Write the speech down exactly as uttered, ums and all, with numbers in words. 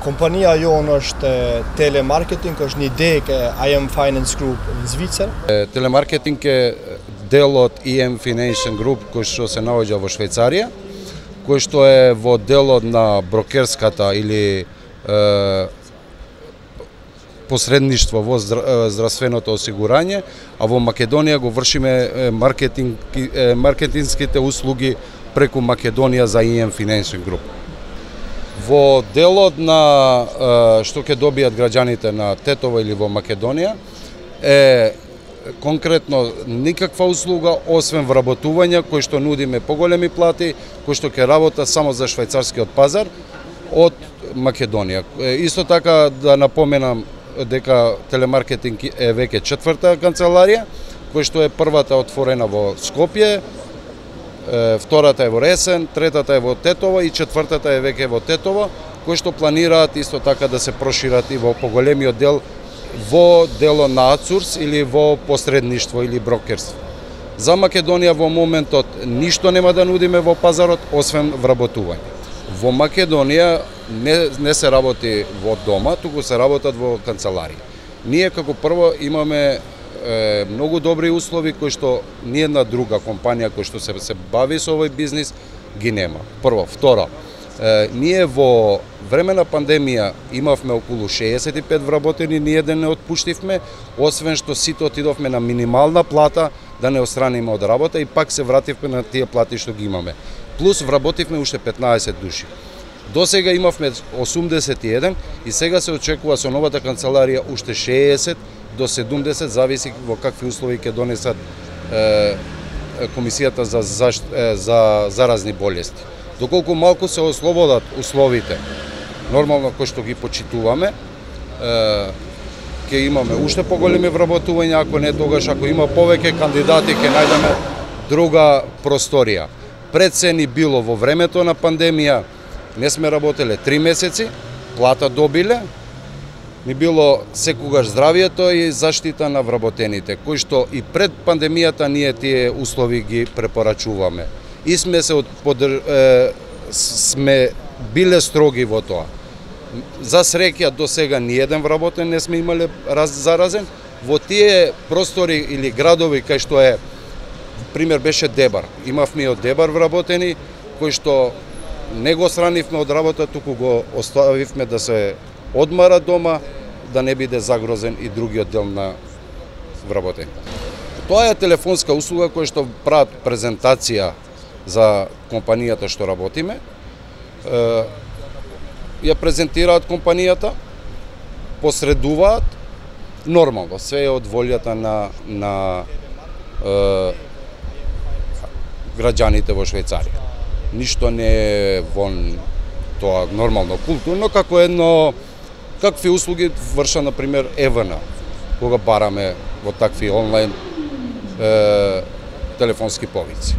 Kompanija jonë është telemarketing, është një dek e I M Finance Group në Zvicër. Telemarketing е дел од I M Finance Group кој што се наоѓа во Швајцарија, кој што е во делот на брокерската или е, посредништво во здравственото осигурање, а во Македонија го вршиме маркетинг, маркетинските услуги преку Македонија за I M Finance Group. Во делот на што ќе добијат граѓаните на Тетово или во Македонија е конкретно никаква услуга освен вработување кој што нудиме поголеми плати, кој што ќе работа само за швајцарскиот пазар од Македонија. Исто така да напоменам дека телемаркетинг е веќе четврта канцеларија, кој што е првата отворена во Скопје, втората е во Ресен, третата е во Тетово и четвртата е веќе во Тетово, кои што планираат исто така да се прошират и во поголемиот дел во дело на аутсорс или во посредништво или брокерство. За Македонија во моментот ништо нема да нудиме во пазарот освен вработување. Во Македонија не, не се работи во дома, туку се работат во канцеларија. Ние како прво имаме е, многу добри услови кои што ниедна друга компанија кој што се, се бави со овој бизнис ги нема. Прво, второ, е, ние во време на пандемија имавме околу шеесет и пет вработени, ниеден не отпуштивме, освен што сите отидовме на минимална плата да не остраниме од работа и пак се вративме на тие плати што ги имаме. Плюс вработивме уште петнаесет души. До сега имавме осумдесет и еден и сега се очекува со новата канцеларија уште шеесет до седумдесет, зависи во какви услови ќе донесат е, Комисијата за, за, за заразни болести. Доколку малку се ослободат условите, нормално кој што ги почитуваме, е, ќе имаме уште поголеми вработувања, ако не тогаш, ако има повеќе кандидати, ќе најдеме друга просторија. Пред се ни било во времето на пандемија, не сме работеле три месеци, плата добиле, ни било секогаш здравието и заштита на вработените, кои што и пред пандемијата ние тие услови ги препорачуваме. И сме се подр... е, сме биле строги во тоа. За среќа до сега ниеден вработен не сме имале раз заразен. Во тие простори или градови кај што е, пример беше Дебар. Имавме и од Дебар вработени кои што не го сранивме од работа, туку го оставивме да се одмара дома, да не биде загрозен и другиот дел на вработени. Тоа е телефонска услуга која што прават презентација за компанијата што работиме. Ја презентираат компанијата, посредуваат, нормално, све е од волјата на, на е, граѓаните во Швајцарија. Ништо не е вон тоа нормално, културно, како едно, какви услуги врша, например, Евана, кога бараме во такви онлайн е, телефонски повици.